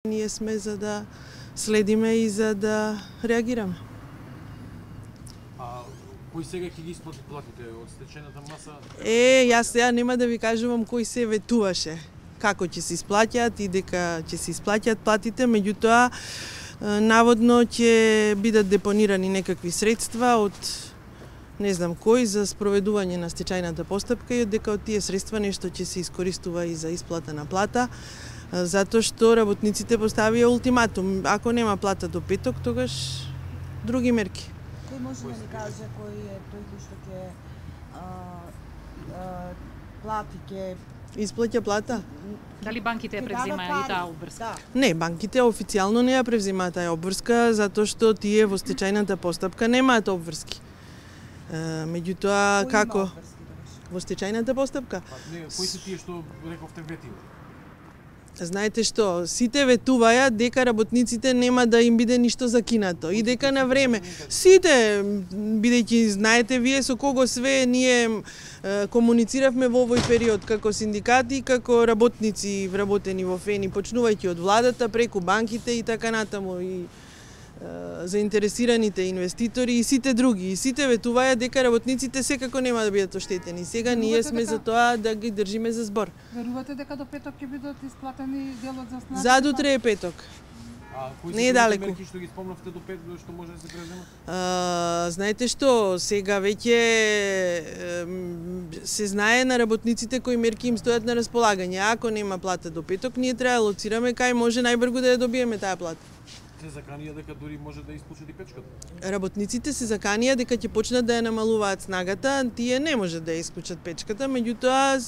Ние сме за да следиме и за да реагираме. Кои сега ќе ги исплати платите од стечената маса? Јас сега нема да ви кажувам кој се ветуваше, како ќе се исплаќаат и дека ќе се исплаќаат платите, меѓутоа наводно ќе бидат депонирани некакви средства од не знам кој за спроведување на стечајната постапка и дека од тие средства нешто ќе се искористува и за исплата на плата, затоа што работниците поставија ултиматум. Ако нема плата до петок, тогаш други мерки. Кој може да ни каже кој е тој кој што ќе плати, ќе исплаќа плата? Дали банките ја превземаат и таа обврска? Не, банките официјално не ја превземаат таа обврска, затоа што тие во стечајната постапка немаат обврски. Меѓутоа, како? Во стечајната постапка? Кои се тие што рековте ветива? Знаете што, сите ветуваја дека работниците нема да им биде ништо закинато и дека на време. Сите, бидејќи знаете вие со кого све ние комунициравме во овој период како синдикати, како работници вработени во ФЕНИ, почнувајќи од владата, преку банките и така натаму и заинтересираните инвеститори и сите други. И сите ветуваја дека работниците секако нема да бидат оштетени. Сега ние сме за тоа да ги држиме за збор. Верувате дека до петок ќе бидат исплатени делот за снабдење? За утре е петок. Не е далеку. Мерки што ги спомнавте до петок што може да се преземат? Знаете што, сега веќе се знае на работниците кои мерки им стојат на располагање. Ако нема плата до петок, ние треба да лоцираме кај може најбрзо да ја добиеме таа плата. Се заканија дека дури може да исплачат и печката. Работниците се заканија дека ќе почнат да ја намалуваат снагата, тие не може да ја исклучат печката, меѓутоа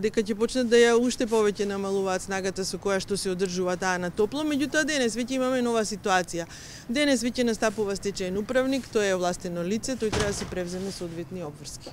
дека ќе почнат да ја уште повеќе намалуваат снагата со која што се одржува таа на топло, меѓутоа денес веќе имаме нова ситуација. Денес веќе настапува стечаен управник, тој е овластено лице, тој треба да се превземе соодветни обврски.